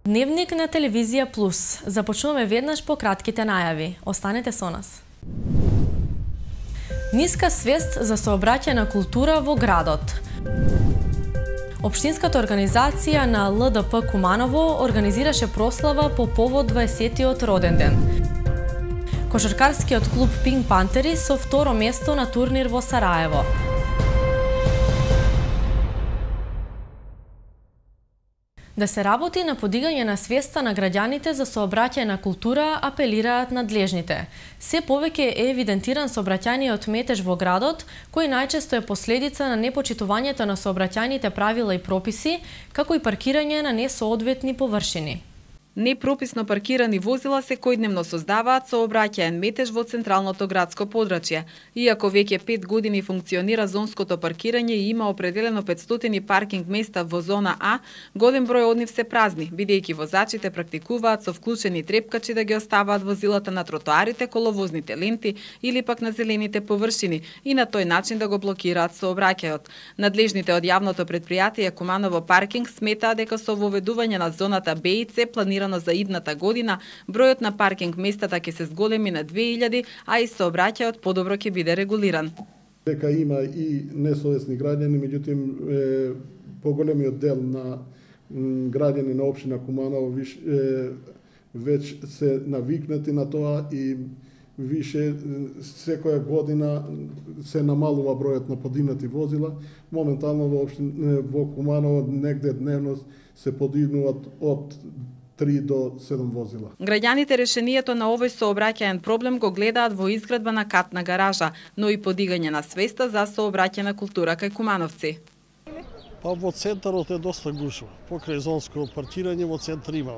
Дневник на Телевизија Плюс. Започнуваме веднаш по кратките најави. Останете со нас. Ниска свест за сообраќајна култура во градот. Општинската организација на ЛДП Куманово организираше прослава по повод 20-тиот роден ден. Кошаркарскиот клуб Пинк Пантери со второ место на турнир во Сараево. Да се работи на подигање на свеста на граѓаните за сообраќајна култура, апелираат надлежните. Се повеќе е евидентиран сообраќајниот метеж во градот, кој најчесто е последица на непочитувањето на сообраќајните правила и прописи, како и паркирање на несоодветни површини. Непрописно паркирани возила секојдневно создаваат сообраќаен метеж во централното градско подрачје. Иако веќе 5 години функционира зонското паркирање и има определено 500 паркинг места во зона А, голем број од нив се празни, бидејќи возачите практикуваат со вклучени трепкачи да ги оставаат возилата на тротоарите, коловозните ленти или пак на зелените површини и на тој начин да го блокираат сообраќајот. Надлежните од јавното претпријатие Куманово паркинг сметаат дека со воведување на зоната Б и С планира за идната година, бројот на паркинг местата ќе се зголеми на 2000, а и сообраќајот подобро ќе биде регулиран. Дека има и несовесни граѓани, меѓутоа поголемиот дел на граѓани на општина Куманово веќе се навикнати на тоа и више секоја година се намалува бројот на подигнати возила. Моментално во Куманово негде дневно се подигнуваат од 3 до 7 возила. Граѓаните решението на овој сообраќаен проблем го гледаат во изградба на катна гаража, но и подигање на свеста за сообраќајна култура кај кумановци. Па во центарот е доста гушво. Покрај зонско паркирање во центар има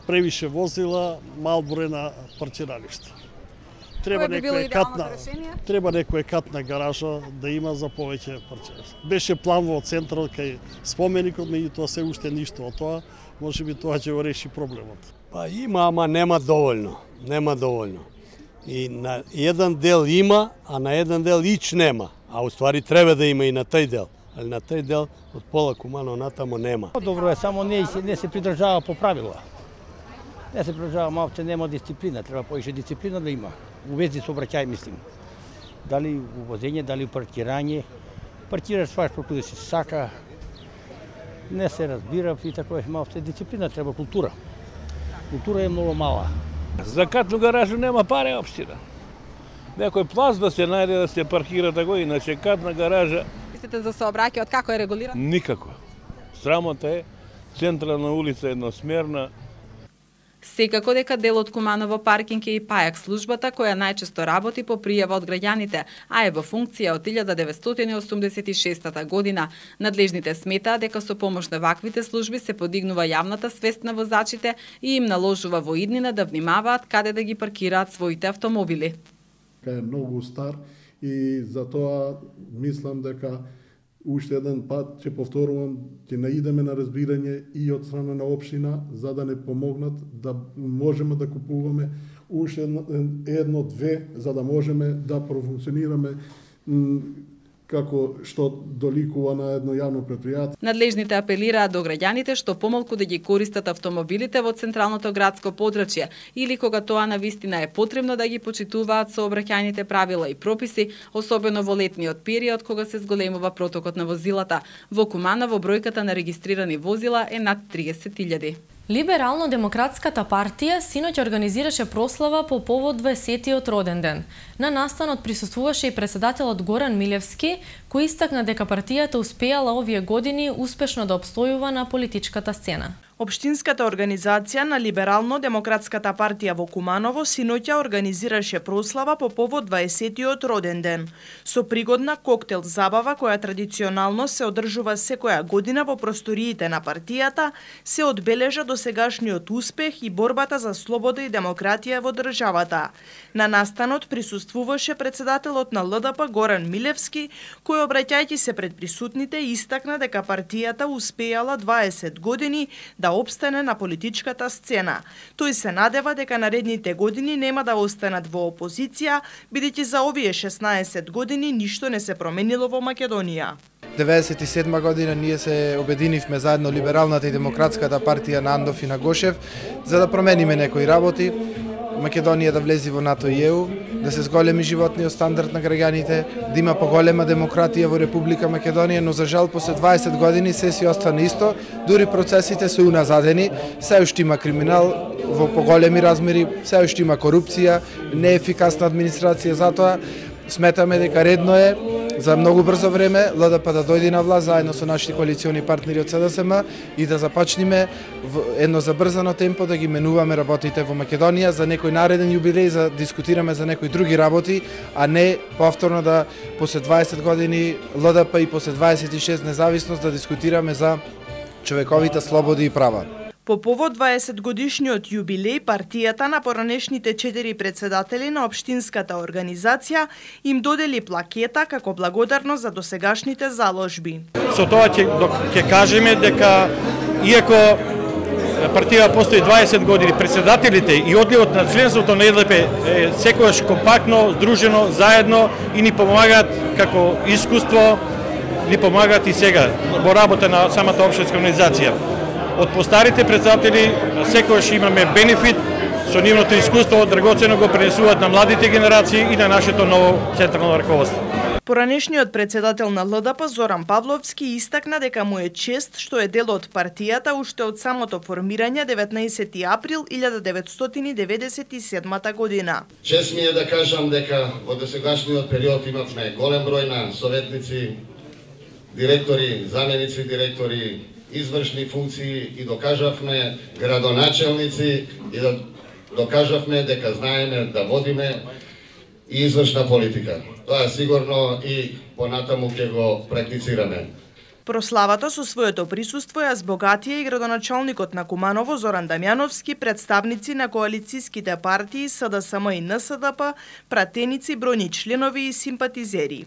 превише возила, мал број на паркиралишта. Треба некоја катна гаража да има за повеќе паркиралишта. Беше план во центарот кај споменикот, меѓутоа се уште ништо од тоа. Може би тоа ќе го реши проблемот. Па има, ама нема доволно. Нема доволно. И на еден дел има, а на еден дел ич нема. А уствари треба да има и на тој дел. Али на тој дел од пола Куманово натамо нема. Добро е, само не се придржава по правила. Не се придржава, малце нема дисциплина, треба поише дисциплина да има. У вези сообраќај, мислим. Дали у возење, дали у паркирање. Паркираш сваш како да си сака. Не се разбира и така е малце дисциплина, треба култура. Култура е многу мала. За катну гаражу нема пари општина. Некој плац да се најде да се паркира тако, иначе катна гаража. Мислите за сообраќајот како е регулиран? Никако. Срамота е, централна улица едносмерна. Секако дека дел од Куманово паркинг е и пајак службата која најчесто работи по пријава од граѓаните, а е во функција од 1986 година. Надлежните сметаат дека со помош на ваквите служби се подигнува јавната свест на возачите и им наложува во иднина да внимаваат каде да ги паркираат своите автомобили. Е многу стар и затоа мислам дека уште еден пат, ќе повторувам, ќе наидеме на разбирање и од страна на општина, за да не помогнат да можеме да купуваме уште едно-две, за да можеме да профункционираме како што доликува на едно јавно предпријатие. Надлежните апелираат до граѓаните што помалку да ги користат автомобилите во централното градско подрачје или кога тоа навистина е потребно да ги почитуваат сообраќајните правила и прописи, особено во летниот период кога се зголемува протокот на возилата. Во Куманово бројката на регистрирани возила е над 30.000. Либерално-демократската партија синоќ организираше прослава по повод 20-тиот роден ден. На настанот присуствуваше и председателот Горан Милевски, кој истакна дека партијата успеала овие години успешно да обстојува на политичката сцена. Општинската организација на Либерално-демократската партија во Куманово синоќа организираше прослава по повод 20-тиот роден ден. Со пригодна коктел забава која традиционално се одржува секоја година во просториите на партијата, се одбележа досегашниот успех и борбата за слобода и демократија во државата. На настанот присуствуваше председателот на ЛДП Горан Милевски, кој обраќајќи се пред присутните, истакна дека партијата успеала 20 години да опстане на политичката сцена. Тој се надева дека наредните години нема да останат во опозиција, бидејќи за овие 16 години ништо не се променило во Македонија. 1997 година ние се обединивме заедно Либералната и Демократската партија на Андов и на Гошев за да промениме некои работи, Македонија да влези во НАТО и ЕУ, да се зголеми животниот стандард на граѓаните, да има поголема демократија во Република Македонија, но за жал после 20 години се си остана исто, дури процесите се уназадени, се уште има криминал во поголеми размери, се уште има корупција, неефикасна администрација, затоа сметаме дека редно е за многу брзо време ЛДП да дојде на власт заедно со нашите коалициони партнери од СДСМ и да започнеме едно забрзано темпо да ги менуваме работите во Македонија за некој нареден јубилеј, за дискутираме за некои други работи, а не повторно да после 20 години ЛДП и после 26 независност да дискутираме за човековите слободи и права. По повод 20 годишниот јубилеј, партијата на поранешните 4 председатели на општинската организација им додели плакета како благодарност за досегашните заложби. Со тоа ќе кажеме дека иако партија постои 20 години, председателите и одливот на членството на ЛДП е секогаш компактно, здружено, заедно и ни помагаат како искуство, ни помагаат и сега во работа на самата општинска организација. Од постарите председатели секогаш имаме бенефит со нивното искуство, драгоцено го пренесуваат на младите генерации и на нашето ново централно раководство. Поранешниот председател на ЛДП Зоран Павловски истакна дека му е чест што е дел од партијата уште од самото формирање 19 април 1997 година. Чест ми е да кажам дека во досегашниот период имавме голем број на советници, директори, заменици директори, извршни функции и докажавме градоначелници и да докажавме дека знаеме да водиме и извршна политика. Тоа сигурно и понатаму ќе го практицираме. Прославата со своето присуство ја збогатија и градоначалникот на Куманово Зоран Дамјановски, представници на коалицијските партии СДСМ и НСДП, пратеници, бројни членови и симпатизери.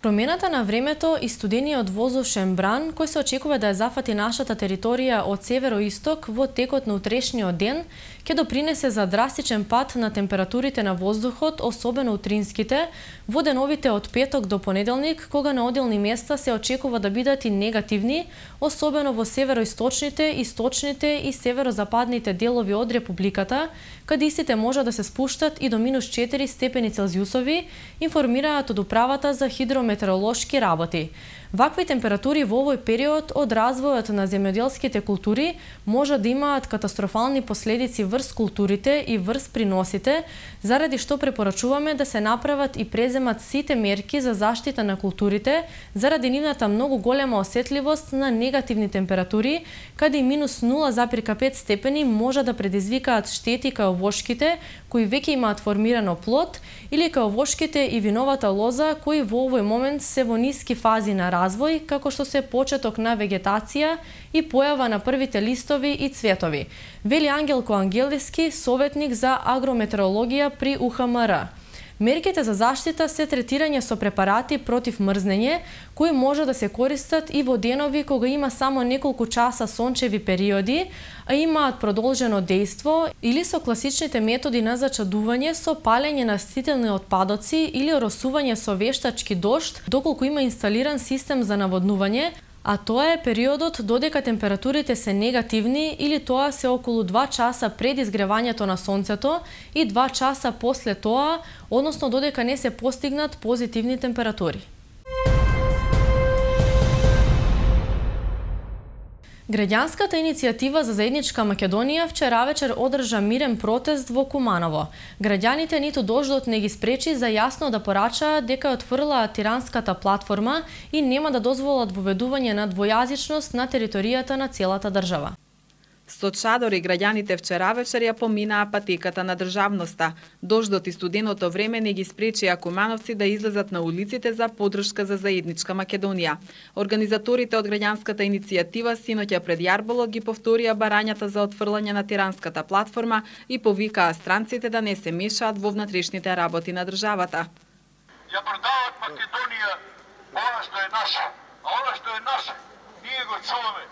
Промената на времето и студениот воздушен бран, кој се очекува да ја зафати нашата територија од северо-исток во текот на утрешниот ден, ќе допринесе за драстичен пад на температурите на воздухот, особено утринските, во деновите од петок до понеделник, кога на одделни места се очекува да бидат и негативни, особено во североисточните, источните и северозападните делови од Републиката, каде истите може да се спуштат и до минус 4 степени Целзиусови, информираат од Управата за хидрометеоролошки работи. Вакви температури во овој период од развојот на земјоделските култури може да имаат катастрофални последици врз културите и врз приносите, заради што препорачуваме да се направат и преземат сите мерки за заштита на културите, заради нивната многу голема осетливост на негативни температури, каде и минус 0,5 степени може да предизвикаат штети кај овошките, кои веќе имаат формирано плод, или кај овошките и виновата лоза, кои во овој момент се во ниски фази на развој, како што се почеток на вегетација и појава на првите листови и цветови, вели Ангелко Ангелиски, советник за агрометеорологија при УХМР. Мерките за заштита се третирање со препарати против мрзнење, кои може да се користат и во денови кога има само неколку часа сончеви периоди, а имаат продолжено дејство, или со класичните методи на зачадување со палење на растителни отпадоци или оросување со вештачки дожд, доколку има инсталиран систем за наводнување, а тоа е периодот додека температурите се негативни или тоа се околу 2 часа пред изгревањето на сонцето и 2 часа после тоа, односно додека не се постигнат позитивни температури. Граѓанската иницијатива за заедничка Македонија вчера вечер одржа мирен протест во Куманово. Граѓаните ниту дождот не ги спречи за јасно да порачаат дека отфрлаат тиранската платформа и нема да дозволат воведување на двојазичност на територијата на целата држава. Со чадори граѓаните вчера вечер ја поминаа патеката на државноста. Дождот и студеното време не ги спречија кумановци да излезат на улиците за поддршка за заедничка Македонија. Организаторите од граѓанската иницијатива синоќа пред Јарболот ги повторија барањата за отфрлање на тиранската платформа и повикаа странците да не се мешаат во внатрешните работи на државата. Ја продават Македонија она што е наше. А она што е наше, ние го чуваме.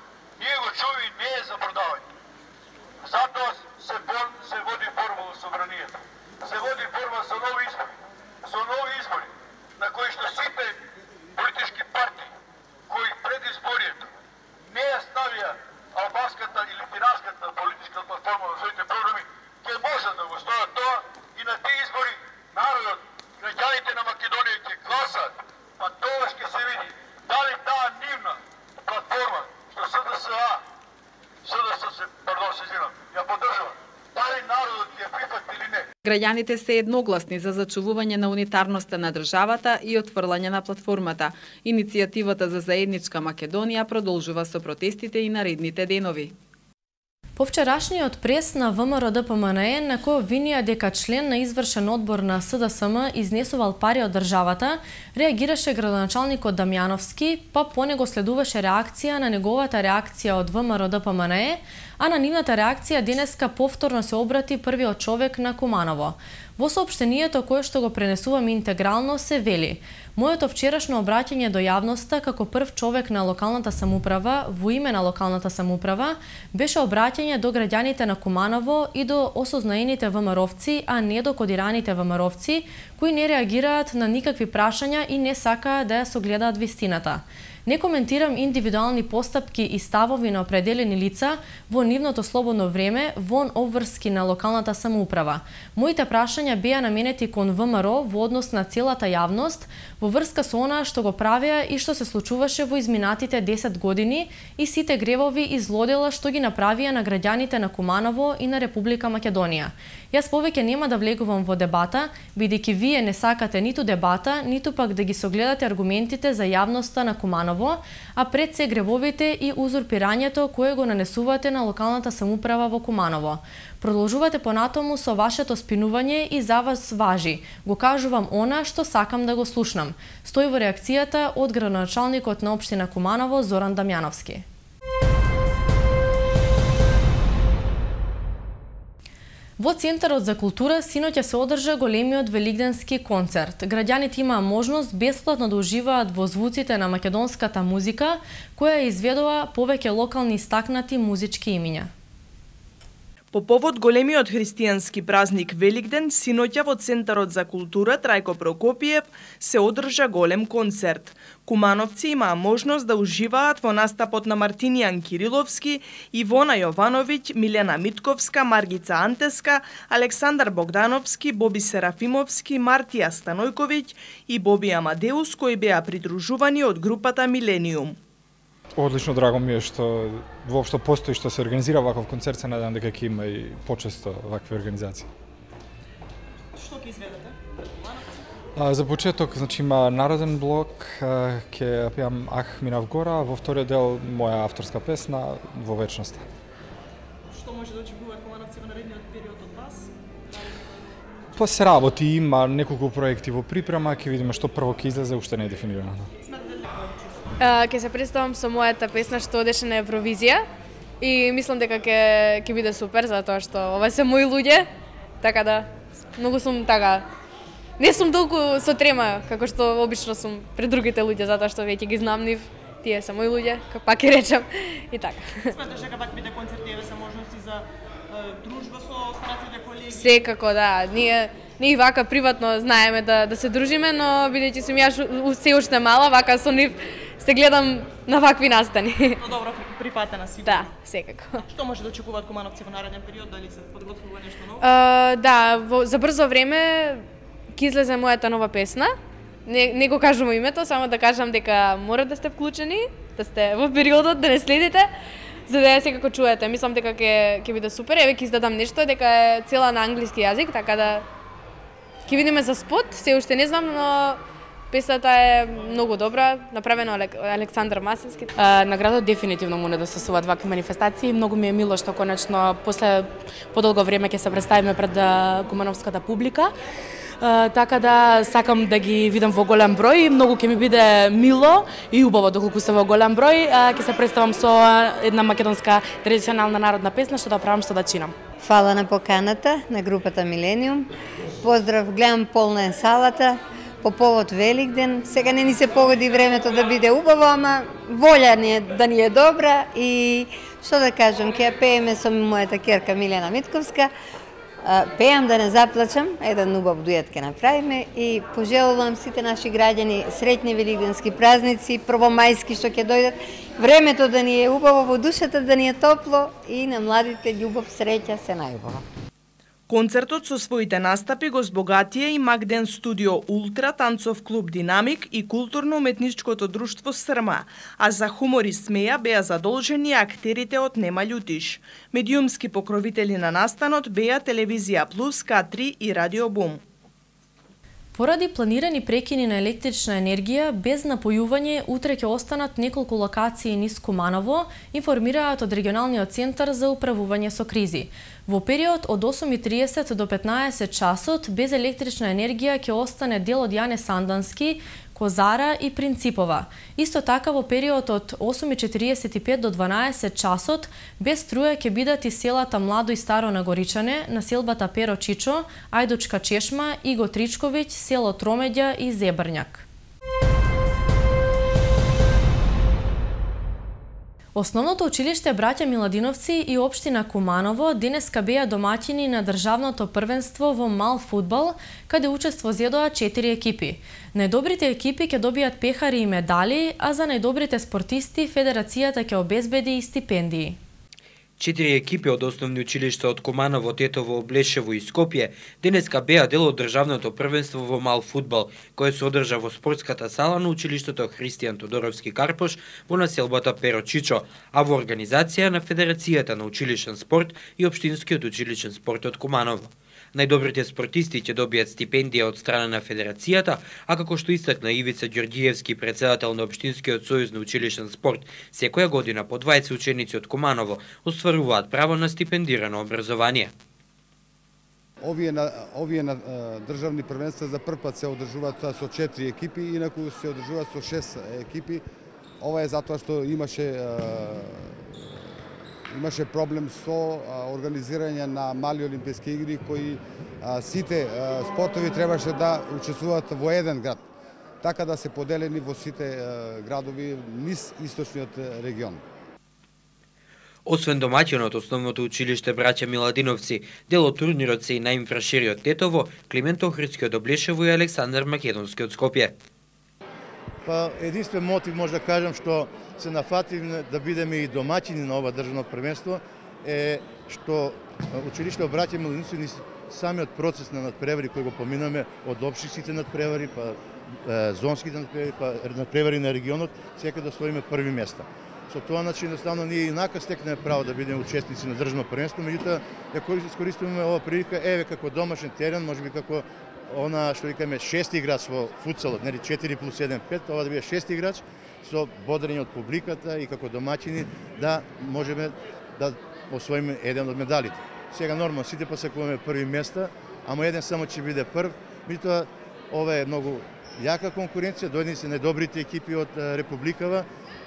Ние го чуваме и не е за продавање. Затоа се води борба во собранието. Се води борба за нови избори. За нови избори, на кои што сите политички партии, кои пред изборието не ја ставија албанската или пиратската политичка платформа во своите програми, ќе можат да го стојат тоа и на тие избори народот, граѓаните на Македонија ќе гласат, па тоа ќе се види дали таа нивна платформа што СДС ја поддржува, дали народот ќе прифати или не. Граѓаните се едногласни за зачувување на унитарноста на државата и отфрлање на платформата. Иницијативата за заедничка Македонија продолжува со протестите и наредните денови. По вчерашниот прес на ВМРО-ДПМНЕ, на кој обвинија дека член на извршен одбор на СДСМ изнесувал пари од државата, реагираше градоначалникот Дамјановски, па по него следуваше реакција на неговата реакција од ВМРО-ДПМНЕ, а на нивната реакција денеска повторно се обрати првиот човек на Куманово. Во соопштението кое што го пренесуваме интегрално се вели: моето вчерашно обраќање до јавноста како прв човек на локалната самоуправа во име на локалната самоуправа беше обраќање до граѓаните на Куманово и до осознаените ВМРО-вци, а не до кодираните ВМРО-вци кои не реагираат на никакви прашања и не сакаат да ја согледаат вистината. Не коментирам индивидуални постапки и ставови на определени лица во нивното слободно време вон обврски на локалната самоуправа. Моите прашања беа наменети кон ВМРО во однос на целата јавност, во врска со она што го правеа и што се случуваше во изминатите 10 години и сите гревови и злодела што ги направија на граѓаните на Куманово и на Република Македонија. Јас повеќе нема да влегувам во дебата, бидејќи вие не сакате ниту дебата, ниту пак да ги согледате аргументите за јавноста на Куманово, а пред се гревовите и узурпирањето кое го нанесувате на локалната самоуправа во Куманово. Продолжувате понатаму со вашето спинување и за вас важи. Го кажувам она што сакам да го слушнам. Стои во реакцијата од градоначалникот на општина Куманово Зоран Дамјановски. Во Центарот за култура синоќа се одржа големиот велигденски концерт. Граѓаните имаа можност бесплатно да уживаат во звуците на македонската музика, која изведува повеќе локални истакнати музички имиња. По повод големиот христијански празник Великден, синоќа во Центарот за култура Трајко Прокопиев се одржа голем концерт. Кумановци имаа можност да уживаат во настапот на Мартинијан Кириловски, Ивона Јовановиќ, Милена Митковска, Маргица Антеска, Александар Богдановски, Боби Серафимовски, Мартија Станојковиќ и Боби Амадеус, кои беа придружувани од групата Милениум. Одлично, драго ми е што воопшто постои што се организира ваков концерт, се надевам дека ќе има и почесто вакви организации. Што ќе изведете? За почеток, значи има народен блок, ќе пеам Ах минав гора, во вториот дел моја авторска песна Во вечноста. Што може да очекуваат кумановци во наредниот период од вас? Па се работи, има неколку проекти во припрема, ќе видиме што прво ќе излезе, уште не е дефинирано. Ќе се представам со мојата песна што одеше на Евровизија и мислам дека ќе биде супер затоа што ова се мои луѓе, така да многу сум така не сум толку со трема како што обично сум пред другите луѓе затоа што веќе ги знам нив, тие се мои луѓе, пак ќе речам и така. Сметаш дека пак биде концерт еве се можности за дружба со останатите колеги? Секако да, ние и вака приватно знаеме да се дружиме, но бидејќи сум јас се уште мала, вака со нив се гледам на вакви настани. Но добро прифатена си. Да, секако. Што може да очекуваат кумановци во нареден период, дали се подготвува нешто ново? Да, за брзо време ќе излезе мојата нова песна. Не го кажувам името, само да кажам дека мора да сте вклучени, да сте во периодот, да не следите, за да ја секако чуете. Мислам дека ќе биде супер. Еве ќе издадам нешто дека е цела на англиски јазик, така да ќе видиме за спот, се уште не знам, но песната е многу добра, направена од Александар Масенски. На градот дефинитивно му недостасуваат вакви манифестации. Многу ми е мило што конечно после подолго време ќе се представиме пред кумановската публика. Така да сакам да ги видам во голем број, многу ќе ми биде мило и убаво доколку се во голем број, ќе се представам со една македонска традиционална народна песна што да правам, што да чинам. Фала на поканата на групата Милениум. Поздрав, гледам полна е салата. по повод Великден. Сега не ни се погоди времето да биде убаво, ама волја ни е да ни е добра и што да кажам, ќе ја пееме со мојата керка Милена Митковска. Пеам да не заплачам, еден убав дует ќе направиме и пожелувам сите наши граѓани среќни великденски празници, првомајски што ќе дојдат, времето да ни е убаво во душата, да ни е топло и на младите љубов, среќа, се најубаво. Концертот со своите настапи го збогатија и Магден студио Ултра, танцов клуб Динамик и културно-уметничкото друштво Срма, а за хумор и смеја беа задолжени актерите од Нема љутиш. Медиумски покровители на настанот беа Телевизија Плюс, К3 и Радио Бум. Поради планирани прекини на електрична енергија, без напојување, утре ќе останат неколку локации низ Куманово, информираат од регионалниот центар за управување со кризи. Во период од 8:30 до 15 часот, без електрична енергија ќе остане дел од Јане Сандански, Козара и Принципова. Исто така во период од 8:45 до 12 часот, без струја ќе бидат и селата Младо и Старо Нагоричане, населбата Перо Чичо, Ајдучка Чешма, Иго Тричковиќ, село Тромеѓа и Зебрњак. Основното училиште Браќа Миладиновци и општина Куманово денеска беа домаќини на државното првенство во мал фудбал, каде учество зедоа 4 екипи. Најдобрите екипи ќе добијат пехари и медали, а за најдобрите спортисти Федерацијата ќе обезбеди и стипендии. 4 екипи од основни училишта од Куманово, Тетово, Облешево и Скопје денеска беа дел од државното првенство во мал фудбал, кое се одржа во спортската сала на училиштето Христијан Тодоровски Карпош во населбата Перо Чичо, а во организација на Федерацијата на училишен спорт и Општинскиот училишен спорт од Куманово. Најдобрите спортисти ќе добијат стипендија од страна на Федерацијата, а како што истакна Ивица Ѓорѓиевски, председател на Општинскиот сојуз на училишен спорт, секоја година по 20 ученици од Куманово остваруваат право на стипендирано образование. Овие на државни првенства за прв пат се одржуваат со 4 екипи, инаку се одржуваат со 6 екипи. Ова е затоа што имаше проблем со организирање на мали олимписки игри кои сите спортови требаше да учествуваат во еден град, така да се поделени во сите градови низ источниот регион. Освен домаќинот, основното училиште Браќа Миладиновци, дел од турнирот се и на Инфрашириот Тетово, Климент Охридски од Облешево и Александар Македонски од Скопје. Па единствен мотив може да кажам што се нафативме да бидеме и домаќини на ова државно првенство е што училиште Браќа Миладиновци самиот процес на надпревари кој го поминаме од општинските надпревари, па зонските надпревари, па надпревари на регионот, сека да освоиме први места. Со тоа начин едноставно ние инака стекнеме право да бидеме учесници на државно првенство, меѓутоа ја искористуваме ова прилика еве како домашен терен, можеби како она што викаме шести играч во футсалот, нели 4 плюс 1 5, ова да биде шести играч со бодрење од публиката и како домаќини да можеме да освоиме еден од медалите. Сега нормално сите посакуваме први места, ама еден само ќе биде прв, меѓутоа ова е многу јака конкуренција, дојдени се најдобрите екипи од Републикава,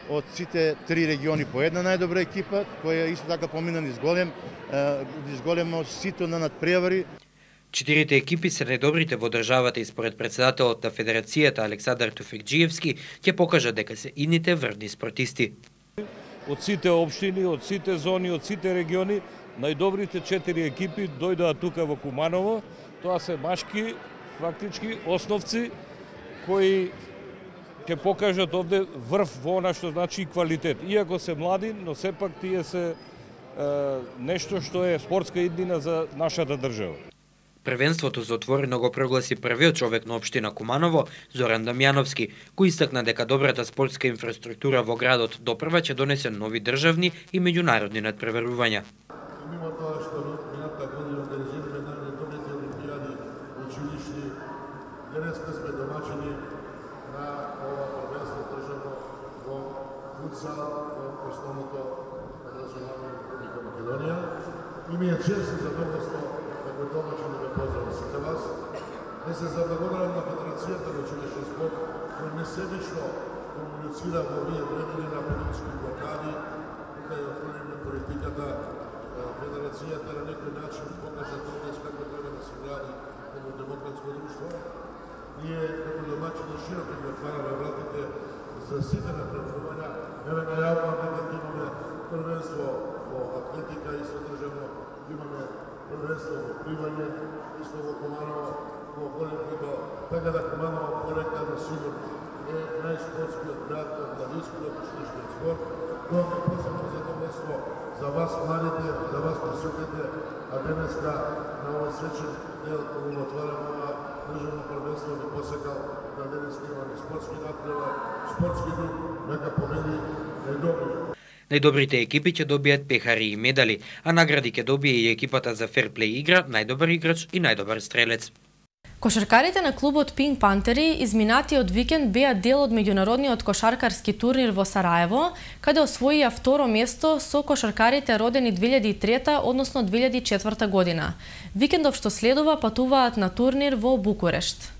од сите 3 региони по една најдобра екипа, која исто така помина низ големо сито на надпревари. 4 екипи се најдобрите во државата и според председателот на Федерацијата Александар Туфекџиевски ќе покажат дека се идните врвни спортисти. Од сите општини, од сите зони, од сите региони, најдобрите 4 екипи дојдоа тука во Куманово. Тоа се машки, фактички основци кои ќе покажат овде врв во она што значи квалитет. Иако се млади, но сепак тие се нешто што е спортска иднина за нашата држава. Првенството за отворено го прогласи првиот човек на општина Куманово, Зоран Дамјановски, кој истакна дека добрата спортска инфраструктура во градот допрва ќе донесе нови државни и меѓународни надпреварувања. Мимо тоа што минатата година организираме најдобрите олимпијади училишни, денеска сме домаќини на ова првенство државно во футсал во основното образование на Република Македонија. И ми е чест и задоволство како домаќин да ве поздравам сите вас. Да се заблагодарам на Федерацијата на училишен спорт, кој несебично комуницира во овие времени на политички блокади, тука ја отвориме политиката. Федерацијата на некој начин покажа тоа како треба да се гради едно демократско друштво. ние како домаќини широко ги отвараме вратите за сите напредувања. Еве најавуваме дека имаме првенство во атлетика и содржавно имаме првенство во пливање, исто во Куманово, во голем фудбал, така да Куманово порека на сигурно е најспортскиот град на младинскиот училиштен спорт. Тоа е посебно задоволство за вас младите, за вас присутните, а денеска на овој свечен дел кога го отвараме ова државно првенство би посекал да денеска имаме спортски надпревар, спортски дух, нека победи најдобри. Најдобрите екипи ќе добијат пехари и медали, а награди ќе добие и екипата за ферплей игра, најдобар играч и најдобар стрелец. Кошаркарите на клубот Пинк Пантери изминатиот викенд беа дел од меѓународниот кошаркарски турнир во Сараево, каде освоија второ место со кошаркарите родени 2003, односно 2004 година. Викендов што следува патуваат на турнир во Букурешт.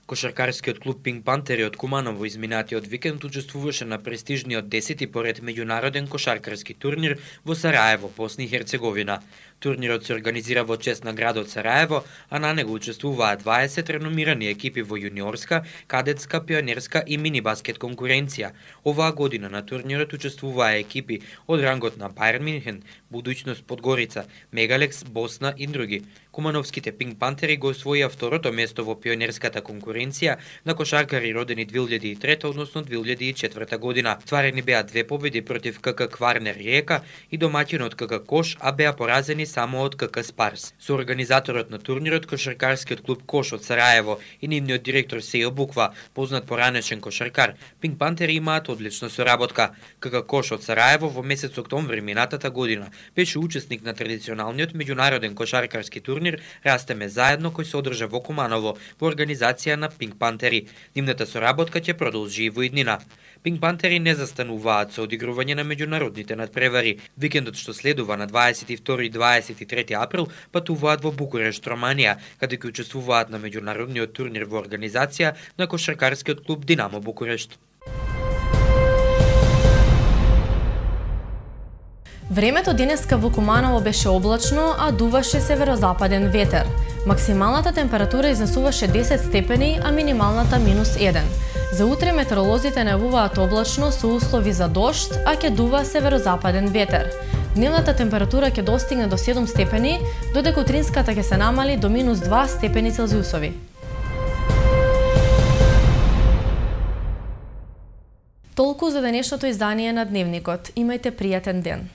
Кошаркарскиот клуб Пинк Пантери од Куманово изминатиот викенд учествуваше на престижниот 10-ти поред меѓународен кошаркарски турнир во Сараево, Босна и Херцеговина. Турнирот се организира во чест на градот Сараево, а на него учествуваат 20 реномирани екипи во јуниорска, кадетска, пионерска и мини баскет конкуренција. Оваа година на турнирот учествуваа екипи од рангот на Байерн Минхен, Будуќност Подгорица, Мегалекс, Босна и други. Кумановските Пинк Пантери го освоија второто место во пионерската конкуренција на кошаркари родени 2003, односно 2004 година. Стварени беа 2 победи против КК Кварнер Риека и домаќинот КК Кош, а беа поразени само од КК Спарс. Со организаторот на турнирот, кошаркарскиот клуб Кош од Сараево и нивниот директор Сејо Буква, познат поранешен кошаркар, Пинк Пантери имаат одлична соработка. КК Кош од Сараево во месец октомври минатата година беше учесник на традиционалниот меѓународен кошаркарски турнир Растеме заедно, кој се одржа во Куманово во организација на Пинк Пантери. Нивната соработка ќе продолжи и во иднина. Пинк Пантери не застануваат со одигрување на меѓународните надпревари. Викендот што следува на 22 и 23 април патуваат во Букурешт, Романија, каде ќе учествуваат на меѓународниот турнир во организација на кошаркарскиот клуб Динамо Букурешт. Времето денеска во Куманово беше облачно, а дуваше северозападен ветер. Максималната температура изнесуваше 10 степени, а минималната -1. За утре метеоролозите најавуваат облачно со услови за дожд, а ќе дува северозападен ветер. Дневната температура ќе достигне до 7 степени, додека утринската ќе се намали до -2 степени Целзиусови. Толку за денешното издание на Дневникот. Имајте пријатен ден.